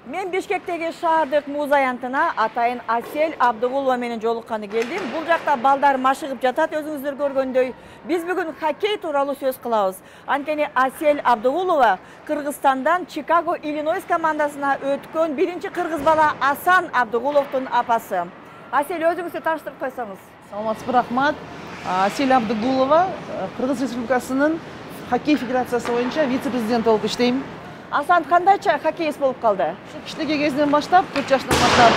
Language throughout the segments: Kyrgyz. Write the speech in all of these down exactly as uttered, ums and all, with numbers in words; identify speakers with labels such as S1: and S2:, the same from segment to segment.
S1: Мен Бишкектеги шаардык муз аянтына атайын Асель Абдыгулова менен жолукканы келдим. Бул жакта балдар машыгып жатат, өзүңүздөр көргөндөй. Биз бүгүн хоккей тууралуу сөз кылабыз. Анткени Асель Абдыгулова Кыргызстандан Чикаго Иллинойс командасына өткөн биринчи кыргыз бала Асан Абдыгуловдун апасы. Асель, өзүңүздү тааныштырып койсоңуз.
S2: Саламатсызбы, рахмат. Асель Абдыгулова, Кыргыз Республикасынын хоккей федерациясы боюнча вице-президент болуп иштейм.
S1: Асан кандайча хоккеист болуп калды?
S2: Кичинекей кезинен баштап, төрт жаштан баштап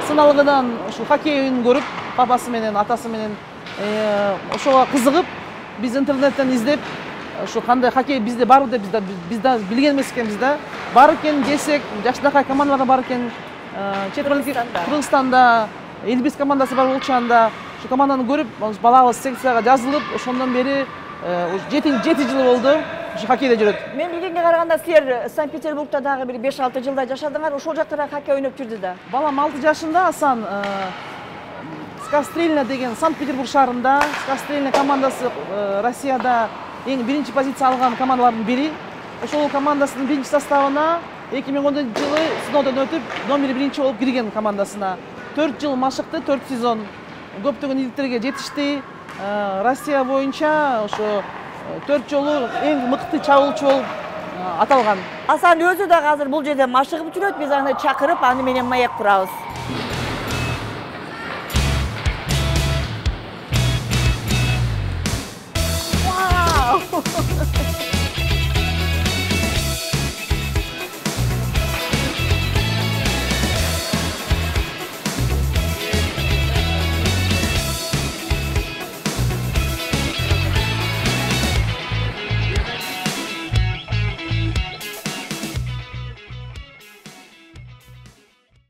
S2: сыналгыдан ушу хоккей оюнун көрүп, папасы менен, атасы менен ошого кызыгып, биз интернеттен издеп, ушу кандай хоккей бизде барбы деп биз да билген эмес экенбиз да. Бар экен десек, жаштакай командалар бар экен. Чет элдерде Кыргызстанда элүү беш командасы бар болчу, анда ушу команданы көрүп, балабыз секцияга жазылып, ошондон бери жети жыл болду. Ушу хоккейде жүрөт.
S1: Мен билгенге караганда силер Санкт-Петербургда дагы бир беш алты жылдай жашадыңар, ошол жакта хоккей ойноп жүрдү да.
S2: Балам алты жашында Асан Скастрельна деген Санкт-Петербург шаарында, Скастрельна командасы Россияда эң биринчи позиция алган командалардын бири. Ошол командасынын биринчи составына эки миң он төртүнчү жылы сыноодон өтүп, номер биринчи болуп кирген командасына. төрт жыл машыкты, төрт сезон көптөгөн ийгиликтерге жетишти. Россия боюнча ошо төрт жолу эң мыкты чабуулчу болуп аталган.
S1: Асан өзү дагы азыр бул жерде машыгып жүрөт, биз аны чакырып, аны менен маек курабыз. Вау!